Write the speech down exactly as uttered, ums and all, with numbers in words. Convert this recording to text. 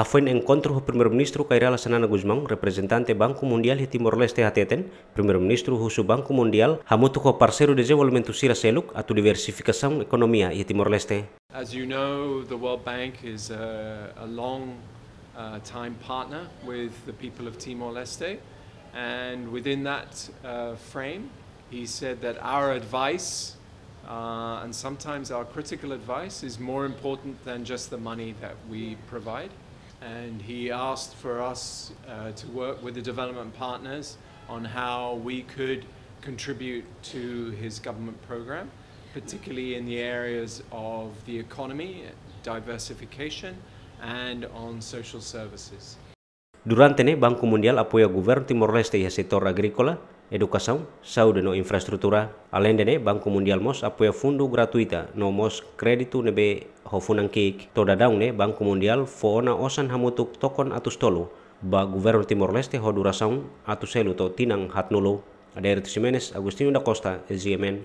Hafoin enkontru ho Primeiru-Ministru Kay Rala Xanana Gusmão, reprezentante Banku Mundiál iha Timor-Leste hateten, Primeiru-Ministru husu Banku Mundiál hamutuk ho parseiru dezenvolvimentu sira seluk atu diversifikasaun ekonomia iha Timor-Leste. As you know, the World Bank is a, a long uh, time partner with the people of Timor-Leste, and within that uh, frame, he said that our advice, uh, and sometimes our critical advice, is more important than just the money that we provide. And he asked for us uh, to work with the development partners on how we could contribute to his government program, particularly in the areas of the economy, diversification, and on social services. Durante ne'e, Banku Mundiál apoia governu Timor-Leste iha setór agríkola, edukasaun, saúde no infraestrutura. Aleinde ne'e, Banku Mundiál mós apoia fundu gratuita no mós kréditu ne'ebé ho funan ki'ik. To'o dadaun ne'e, Banku Mundiál fó ona osan hamutuk tokon atus tolu ba governu Timor-Leste ho durasaun atus tolu to'o tinan haatnulu. Adérito Ximenes, Agostinho da Costa, G M N.